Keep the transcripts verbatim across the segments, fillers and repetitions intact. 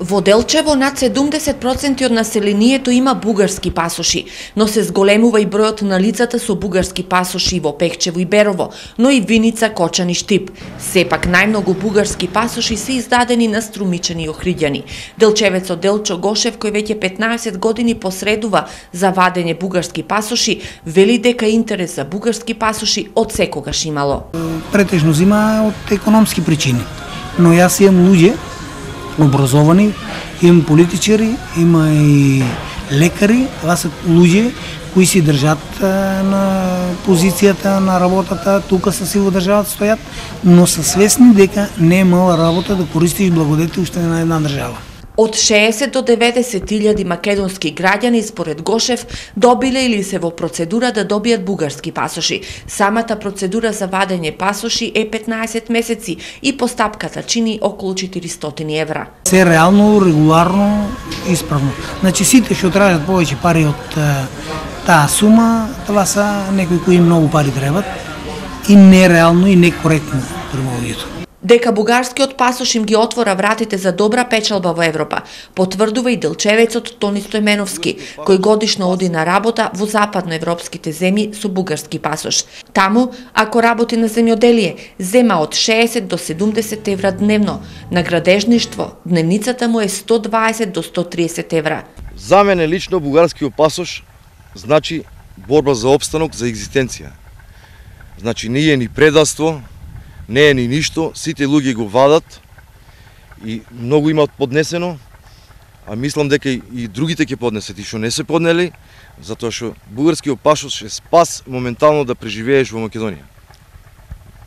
Во Делчево над седумдесет проценти од населението има бугарски пасоши, но се зголемува и бројот на лицата со бугарски пасоши во Пехчево и Берово, но и Виница, Кочан и Штип. Сепак најмногу бугарски пасоши се издадени на Струмичани и Охриѓани. Делчевецот Делчо Гошев, кој веќе петнаесет години посредува за вадење бугарски пасоши, вели дека интерес за бугарски пасоши од секогаш имало. Претежно зима од економски причини, но јас имам луѓе образовани, имам политичари, има и лекари, това се луѓе кои си држат на позицијата на работата, тука са си во државата стојат, но са свесни дека не е мала работа да користиш благодетелството на една држава. Од шеесет до деветесет илјади македонски граѓани, според Гошев, добиле или се во процедура да добијат бугарски пасоши. Самата процедура за вадење пасоши е петнаесет месеци и постапката чини околу четиристотини евра. Се реално, регуларно, исправно. Значи сите што тражат повеќе пари од таа сума, това са некои кои многу пари требат и нереално и некоректно према луѓето. Дека бугарскиот пасош им ги отвора вратите за добра печалба во Европа, потврдува и делчевецот Тони Стојменовски, кој годишно оди на работа во западноевропските земји со бугарски пасош. Таму, ако работи на земјоделие, зема од шеесет до седумдесет евра дневно. На градежништво, дневницата му е сто дваесет до сто триесет евра. За мене лично бугарскиот пасош значи борба за опстанок, за екзистенција. Значи не е ни предавство, не е ни ништо, сите луѓе го вадат и многу имаат поднесено, а мислам дека и другите ќе поднесат и што не се поднели, затоа што бугарскиот пасош е спас моментално да преживееш во Македонија.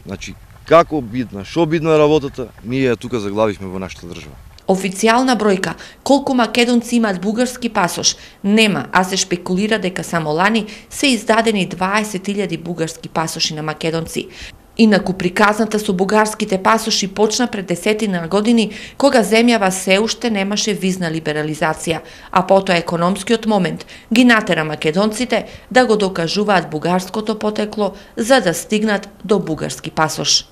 Значи, како бидна, шо бидна работата, ние ја тука заглавивме во нашата држава. Официјална бројка колку македонци имаат бугарски пасош нема, а се шпекулира дека само лани се издадени дваесет илјади бугарски пасоши на македонци. Инаку приказната со бугарските пасоши почна пред десетина години, кога земјава се уште немаше визна либерализација, а потоа економскиот момент ги натера македонците да го докажуваат бугарското потекло за да стигнат до бугарски пасош.